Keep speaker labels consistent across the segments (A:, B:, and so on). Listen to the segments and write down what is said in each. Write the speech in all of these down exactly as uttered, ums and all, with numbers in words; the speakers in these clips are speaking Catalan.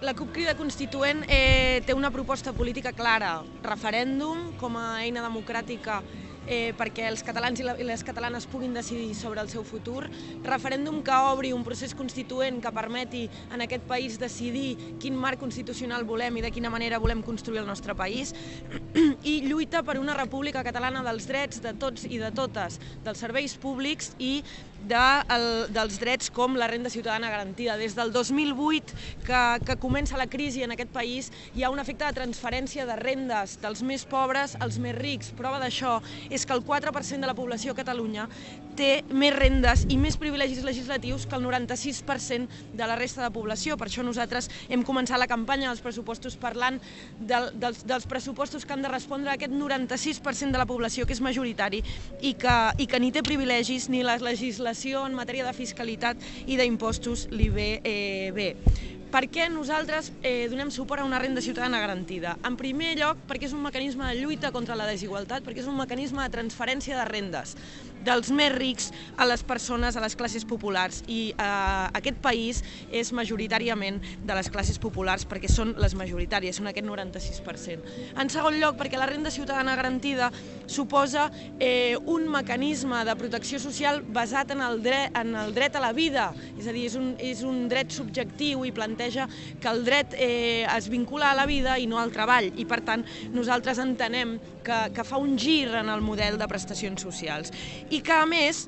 A: La CUP Crida Constituent eh, té una proposta política clara, referèndum com a eina democràtica eh, perquè els catalans i les catalanes puguin decidir sobre el seu futur, referèndum que obri un procés constituent que permeti en aquest país decidir quin marc constitucional volem i de quina manera volem construir el nostre país, i lluita per una república catalana dels drets de tots i de totes, dels serveis públics i de, el, dels drets com la renda ciutadana garantida. Des del dos mil vuit que, que comença la crisi en aquest país hi ha un efecte de transferència de rendes dels més pobres als més rics. Prova d'això és que el quatre per cent de la població a Catalunya té més rendes i més privilegis legislatius que el noranta-sis per cent de la resta de població. Per això nosaltres hem començat la campanya dels pressupostos parlant del, dels, dels pressupostos que han de respondre a aquest noranta-sis per cent de la població que és majoritari i que, i que ni té privilegis ni la legislació en matèria de fiscalitat i d'impostos li ve eh, bé. Per què nosaltres eh, donem suport a una renda ciutadana garantida? En primer lloc, perquè és un mecanisme de lluita contra la desigualtat, perquè és un mecanisme de transferència de rendes dels més rics a les persones, a les classes populars. I eh, aquest país és majoritàriament de les classes populars perquè són les majoritàries, són aquest noranta-sis per cent. En segon lloc, perquè la renda ciutadana garantida suposa eh, un mecanisme de protecció social basat en el dret, en el dret a la vida, és a dir, és un, és un dret subjectiu i planteja que el dret eh, es vincula a la vida i no al treball, i per tant nosaltres entenem que, que fa un gir en el model de prestacions socials i que a més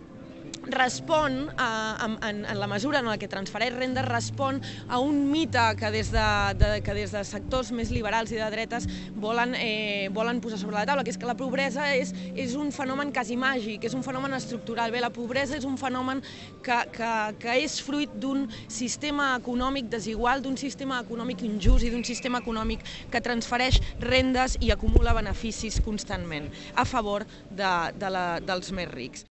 A: respon, a, en, en la mesura en la que transfereix renda, respon a un mite que des de, de, que des de sectors més liberals i de dretes volen, eh, volen posar sobre la taula, que és que la pobresa és, és un fenomen quasi màgic, és un fenomen estructural. Bé, la pobresa és un fenomen que, que, que és fruit d'un sistema econòmic desigual, d'un sistema econòmic injust i d'un sistema econòmic que transfereix rendes i acumula beneficis constantment a favor de, de la, dels més rics.